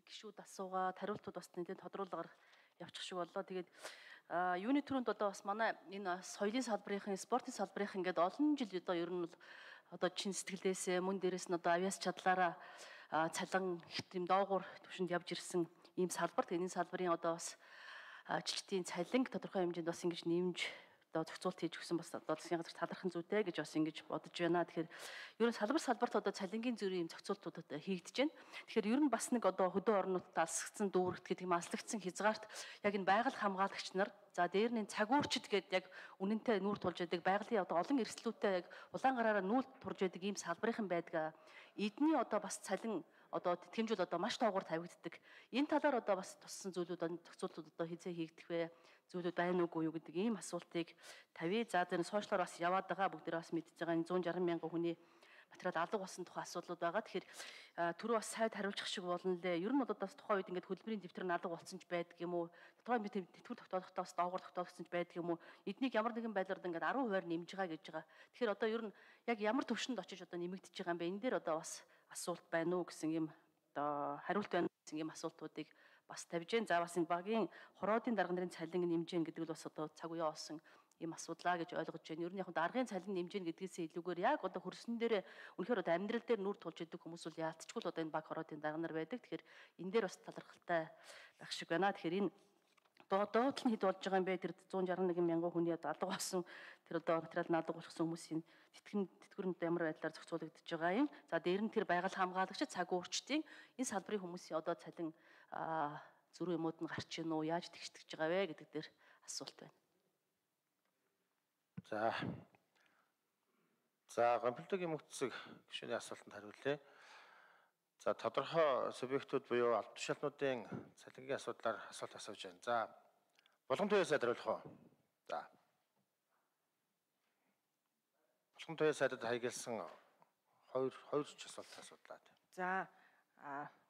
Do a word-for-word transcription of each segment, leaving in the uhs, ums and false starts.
гишүүд асуугаад хариултууд бас нэлээд тодруулгаар явчих шиг боллоо. Тэгээд юуны түрүүнд одоо бас манай энэ соёлын салбарын, спортын салбарын ингээд олон жил одоо ер нь одоо чин сэтгэлдээсээ мөн дээрээс нь одоо авиас чадлаараа цалин их юм доогуур төвшөнд явж ирсэн ийм салбар. Тэгээд энэ салбарын одоо бас ажилчдын цалин тодорхой хэмжээнд бас ингэж нэмж одоо зохицуулт хийж өгсөн бас одоо засгийн газар талархах зүйтэй гэж бас ингэж бодож байна. Тэгэхээр ер нь салбар салбарт одоо цалингийн зүрийн зохицуултууд одоо хийгдэж байна. Тэгэхээр ер нь бас нэг одоо хөдөө орнуудад алсгдсан дүүрэгт гэдэг юм алслагдсан хязгаарт яг энэ байгаль хамгаалагч нар за дээр нь цагуурчд гэдэг яг үнэнтэй нүүр тулж байдаг байгалийн одоо олон эрсдлүүдтэй яг улаан гараараа нүүр турж байдаг ийм салбарын байдаг. Эдний одоо бас цалин одоо тэтгэмжүүл одоо маш доогуур тавигддаг. Энэ талаар одоо бас туссан зүйлүүд зохицуултууд одоо хизээ хийгдэх вэ? Зүйлүүд байна уугүй юу гэдэг ийм асуултыг тавья. За тэр сошиалоор бас яваад байгаа бүгд бас мэдж байгаа энэ зуун жарган мянган хүний материал алга болсон тухай асуудлууд байгаа. Тэгэхээр түрүү бас сайд хариулчих шиг болно лээ. Ер нь бол бас тухайн үед ингээд хөдөлмөрийн дэвтэр нь алга болсон ч байдаг юм уу? Тухайн бид тэтгэвэр тогтоодохдоо бас доогуур тогтоогдсон ч байдаг юм уу? Эднийг ямар нэгэн байдлаар ингээд арван хувиар нэмж байгаа гэж байгаа. Тэгэхээр одоо ер нь яг ямар төвшөнд очиж одоо нэмэгдэж байгаа юм бэ? Энэ дээр одоо бас асуулт байна уу гэсэн юм одоо хариулт байна гэсэн юм асуултуудыг бас тавьж гэн. За бас энэ багийн хороодын дарга нарын цалин нэмж гэн гэдэг нь бас одоо цаг үе олсон ийм асуудлаа гэж ойлгож байна. Ер нь яг даргын цалин нэмж гэн гэдгээс илүүгээр яг одоо хөрсөн дээр үнэхээр одоо амьдрал дээр нүүр тулж идэг хүмүүс бол яалтчгүй л одоо энэ баг хороодын дарга нар байдаг. Тэгэхээр энэ дээр бас талархалтай байх шиг байна. Тэгэхээр энэ доод нь хэд болж байгаа юм бэ? Тэр зуун жарган нэг мянган хүний одоо алга болсон тэр одоо материал нь алга болчихсон хүмүүсийн тэтгэн тэтгэврүүд ямар байдлаар зохицуулагдаж байгаа юм. За дээр нь тэр байгаль хамгаалагч цаг уурчдын энэ салбарын хүмүүсийн одоо цалин зөрүү юмуд нь гарч ийн үү? Яаж тэгшдэж байгаа вэ гэдэг дээр асуулт байна. За. За, гомдлогийн мөнгөцөг гишүүний асуултанд хариулъя. За, тодорхой субъектууд буюу албан тушаалтнуудын цалингийн асуудлаар асуулт асууж байна. За, Булган туяа сайд хариулах уу? За. Булган туяа сайдад хаягдсан хоёр хоёр ч асуулт асуудлаа. За,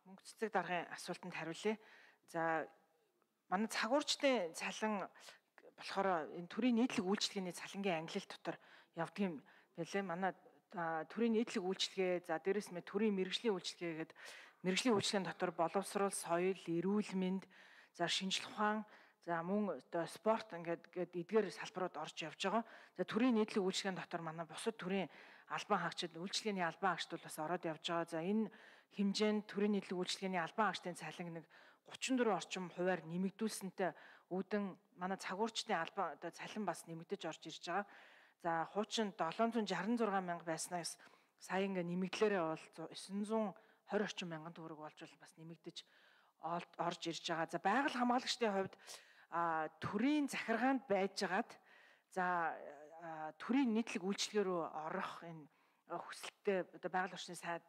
мөнгө цэцэг даргын асуултанд хариулъя. За, манай цагуурчдын цалин болохоор энэ төрийн нийтлэг үйлчилгээний цалингийн ангилал дотор явдаг юм байлээ. Манай төрийн нийтлэг үйлчилгээ, за дээрэс нь төрийн мэрэгжлийн үйлчилгээ гэдэг мэрэгжлийн үйлчилгээний дотор боловсрол, соёл, эрүүл мэнд, за шинжлэх ухаан, за мөн одоо спорт ингээд гээд эдгээр салбарууд орж явж байгаа. За төрийн нийтлэг үйлчилгээний дотор манай бусад төрийн албан хаагчид, үйлчилгээний албан хаагчид бол бас ороод явж байгаа. За энэ хэмжээнд төрийн нийтлэг үйлчилгээний албан хаагчдын цалин нэг гучин дөрвөн орчим хувиар нэмэгдүүлсэнтэй үүдэн манай цагуурчдын албан одоо цалин бас нэмэгдэж орж ирж байгаа. За хуучин долоон зуун шарсан зургаан мянга байснаас сая ингээ нэмэгдлээрээ бол девин зуун хорин орчим мянган төгрөг болж бас нэмэгдэж орж ирж байгаа. За байгаль хамгаалагчдын хувьд төрийн захиргаанд байжгаад за төрийн нийтлэг үйлчилгээ рүү орох энэ хүсэлттэй одоо байгаль орчны сайд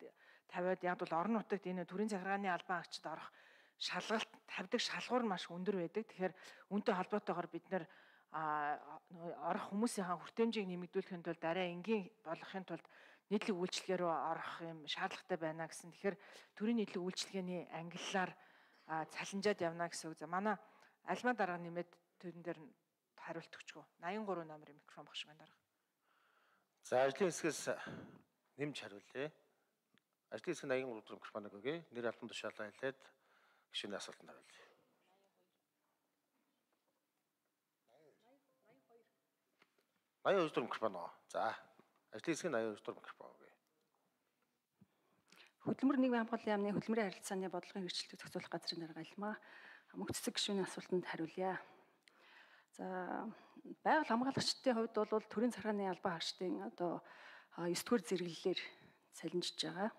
тавиад яг бол орон нутагт энэ төрийн захиргааны албан хаагчид орох шалгалт тавьдаг шалгуур маш өндөр байдаг. Тэгэхээр үүнтэй холбоотойгоор бид нэр орох хүмүүсийн хүртээмжийг нэмэгдүүлэхэд бол дараа энгийн болгохын тулд нийтлэг үйлчилгээ рүү орох юм шаардлагатай байна гэсэн. Тэгэхээр төрийн нийтлэг үйлчилгээний ангиллаар цалинжаад явна гэсэн үг. За манай альма дарга нэмээд төрөн дээр хариулт өгчгөө. восемьдесят три номерын микрофон багш байна дарга. За ажлын хэсгээс нэмж хариулъя. Ажлын хэсэг восемьдесят три микрофоныг өгье. Нэр албан тушаалаа хэлээд гишүүний асуултанд хариулъя. восемьдесят три микрофон оо. За, ажлын хэсэг восемьдесят три микрофон өгье. Хөдөлмөр нийгмийн хамгааллын яамны хөдөлмөрийн харилцааны бодлогын хэрэгжилтийг зохицуулах газрын дарга Альмаа мөнгө цэцэг гишүүний асуултанд хариулъя. За, байгаль хамгаалагчдын хувьд бол төрийн захиргааны албан хаагчдын одоо девять дугаар зэрэглэлээр цалинжиж байгаа.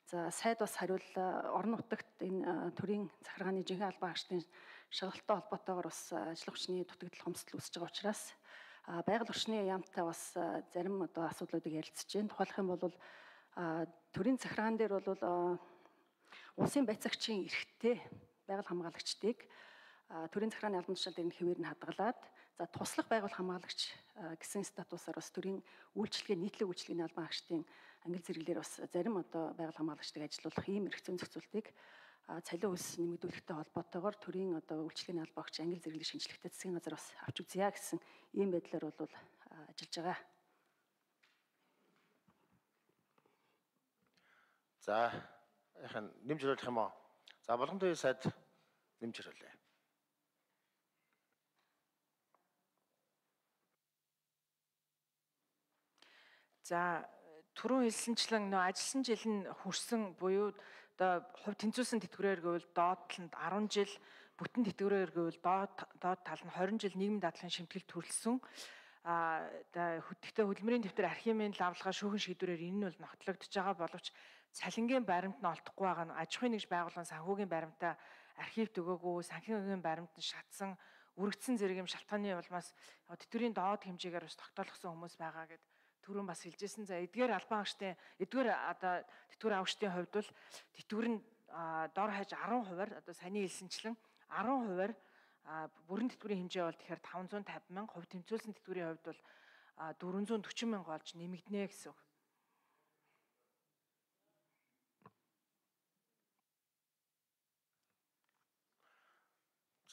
За, сайд бас хариуллаа. Орон нутагт энэ төрийн захиргааны жинхэнэ албан хаагчдын шалгалттай холбоотойгоор бас ажил хүчний дутагдал хомсдол үүсэж байгаа учраас байгаль орчны яамтай бас зарим одоо асуудлуудыг ярилцж байна. Тухайлх юм бол төрийн захиргаан дээр бол улсын байцаагчийн эрхтэй байгаль хамгаалагчдыг төрийн захиргааны албан тушаал дээр нь хэвээр нь хадгалаад за туслах байгаль хамгаалагч гэсэн статусаар бас төрийн үйлчилгээ нийтлэг үйлчилгээний албан хаагчдын ангил зэрэглэлээр бас зарим одоо байгаль хамгаалагчдыг ажилуулах ийм эрх зүйн зохицуултыг цалин хөлс нэмэгдүүлэхтэй холбоотойгоор төрийн одоо үйлчилгээний албан хаагчийн ангил зэрэглэлийн шинжилгээтэй засгийн газар бас авч үзье гэсэн ийм байдлаар бол ажиллаж байгаа. За, яхан нэмж хариулах юм уу? За болгон төвийн сайд нэмж ирүүлээ. За түрүүн хэлсэнчлэн нөө ажилласан жил нь хүрсэн буюу одоо хувь тэнцвүүлсэн тэтгэврээр гэвэл доод талд арван жил, бүтэн тэтгэврээр гэвэл доод доод тал нь хорин жил нийгмийн даатгалын шимтгэл төрөлсөн. А хөтгтөө хөдөлмөрийн дэвтэр архивын лавлага шүүхэн шийдвэрээр энэ нь бол ногтлогдож байгаа боловч цалингийн баримт нь олдохгүй байгаа нь аж ахуйн нэгж байгууллагын санхүүгийн баримтаа архивд өгөөгүй, санхүүгийн баримт нь шатсан, үргэлжсэн зэрэг юм шалтгааны улмаас тэтгэврийн доод хэмжээгээр бас тогтоолгосон хүмүүс байгаа гэд түрүүн бас хэлжсэн. За эдгээр албан хаагчдын эдгээр одоо тэтгэвэр авагчдын хувьд бол тэтгэвэр нь дор хаяж арван хувиар одоо саяны хэлсэнчлэн арван хувиар бүрэн тэтгэврийн хэмжээ бол тэгэхээр таван зуун тавин мянга, хувь тэмцүүлсэн тэтгэврийн хувьд бол дөрвөн зуун дөрвөн мянга болж нэмэгдэнэ гэсэн үг.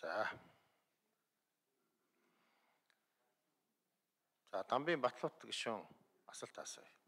За. За Дамбын Батлуут гишүүн асуулт асууя.